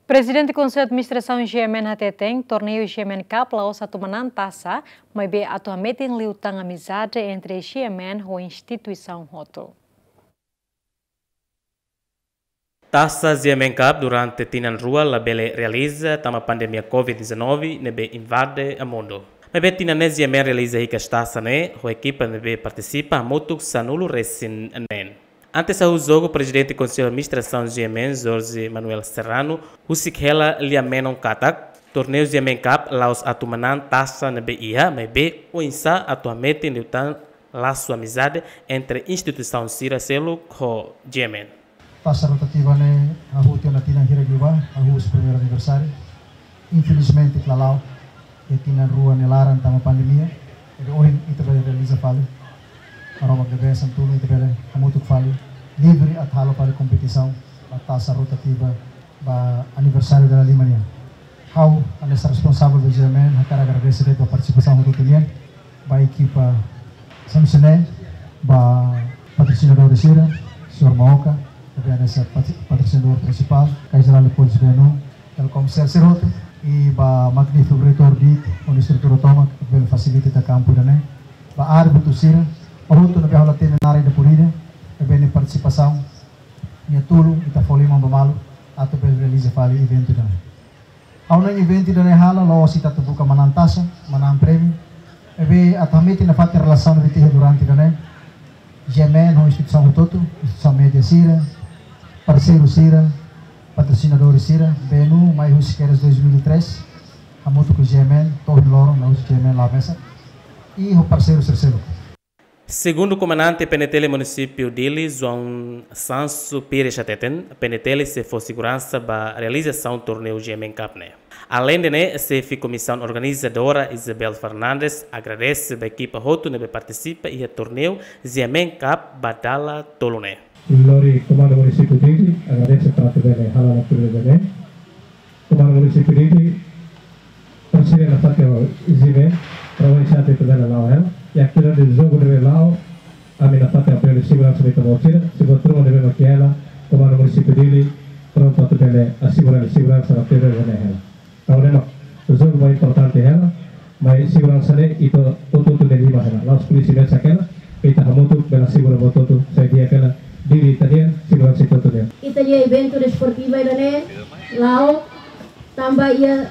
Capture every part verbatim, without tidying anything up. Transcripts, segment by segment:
Prezidente Konsellu Administrasaun GMN hateten, torneiu GMN Cup la'ós atu manán tasa, maibé atu hametin liután amizade entre GMN ho instituisaun hotu. Tasa GMN Cup durante tinan rua labele realiza tanba pandemia covid dezanove ne'ebé invade mundu. Maibé tinan ne'e GMN realiza hikas tasa ne'e, ho ekipa ne'ebé partisipa hamutuk sanulu-resin-neen. Antes hahú jogu, Prezidente Konsellu Administrasaun GMN, Jorge Manuel Serrano, husik hela lia-menon katak, torneiu GMN Cup la'ós atu manán tasa ne'ebé iha, maibé oinsá atu hametin liután lasu amizade entre instituisaun sira seluk ho GMN. Tasa rotativa ne'e hahú tiha ona tinan hirak liubá, hahú husi primeiru aniversáriu. Infelizmente, klala'o, iha tinan rua nia laran tanba pandemia, ne'ebé ohin ita bele realiza fali. Maromak ne'ebé hanesan tulun ita bele hamutuk fali, livre atu halo fali kompetisaun ba tasa rotativa ba aniversáriu dala lima nian. Ha'u hanesan responsavel ba GMN, hakarak agradese de'it ba partisipasaun hotu-hotu nian, ba ekipa Samsone, ba patrosinadór sira, señór Maoka, ne'ebé hanesan patri-, patrosinadór prinsipál, Caixa Geral de Depósitos B N U, Telkomsel sira hotu, i ba magnífiku reitór de'it, ho estrutura tomak, bele fasilita ita kampu ida-ne'e, ba árbitru sira, ba hotu ne'ebé halo temi naran ida por ida, ne'ebé nia partisipasaun, nia tulun, ita fó liman ba malu, atu bele realiza fali eventu ida-ne'e. Ha'u hanoin eventu ida-ne'e hala'o la'ós ita atu buka manán tasa, manán prémiu. Maibé atu hametin nafatin relasaun ne'ebé iha durante ida-ne'e. GMN ho instituisaun hotu-hotu, instituisaun média sira, parseiru sira, patrosinadór sira, B N U, mai husi kedas dois mil e três, hamutuk ho GMN, to'o ohin loron, la'ós GMN la'o mesak. I ho parseiru sira seluk. Segundu Komandante PNTL Munisípiu Dili, João Sancho Pires hateten, PNTL sei fó seguransa ba realizasaun torneiu GMN Cup ne'e. Aleinde ne'e, Xefe Komisaun Organizadora Isabel Fernandes agradese ba ekipa hotu ne'ebé partisipa iha torneiu GMN Cup ba dala tolu ne'e. Lori Komandu Munisípiu Dili, agradese tanba atu bele hala'o ona tuir ne'e. Komandu Munisípiu Dili, parseiru nafatin GMN, traballu sira atu bele la'o hela. I atividade jogu ne'ebé la'o, ami nafatin apoiu seguransa ba ita-boot sira, se buat ruma ne'ebé mak iha hela, Komandu Munisípiu Dili, prontu atu bele asegura seguransa ba atividade ne'e hela. Entaun ne'e mak jogu mak importante hela, maibé seguransa ne'e ita hotu-hotu nia liman hela. La'ós polísia mesak hela, ita hamutuk bele asegura buat hotu sai di'ak hela, Dili ita-nian, seguransa ita hotu nian. Ita-nia eventu desportiva ida-ne'e la'o tanba iha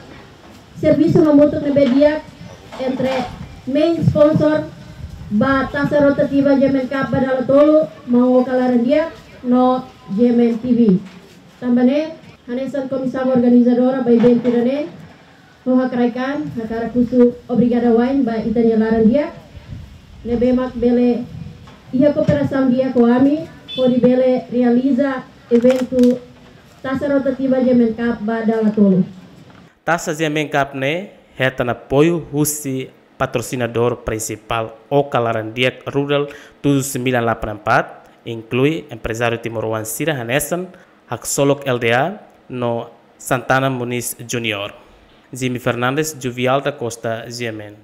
servisu hamutuk ne'ebé di'ak entre main sponsor ba tasa rotativa GMN Cup ba dala tolu, Maun Oka Laran Di'ak, no GMN TV. Tanba ne'e, hanesan komisaun organizadora ba eventu ida-ne'e, ha'u hakarak, hakarak husu obrigada wa'in ba ita-nia laran di'ak, ne'ebé mak bele iha kooperasaun di'ak ho ami, hodi bele realiza eventu tasa rotativa GMN Cup ba dala tolu. Tasa GMN Cup ne'e hetan apoiu husi patrosinadór prinsipál Oka Laran Di'ak Rural tujuh sembilan delapan empat, inklui emprezáriu timoroan sira hanesan Haksolok L D A no Santana Muniz Junior. Jimmy Fernandes, Juvial da Costa, GMN.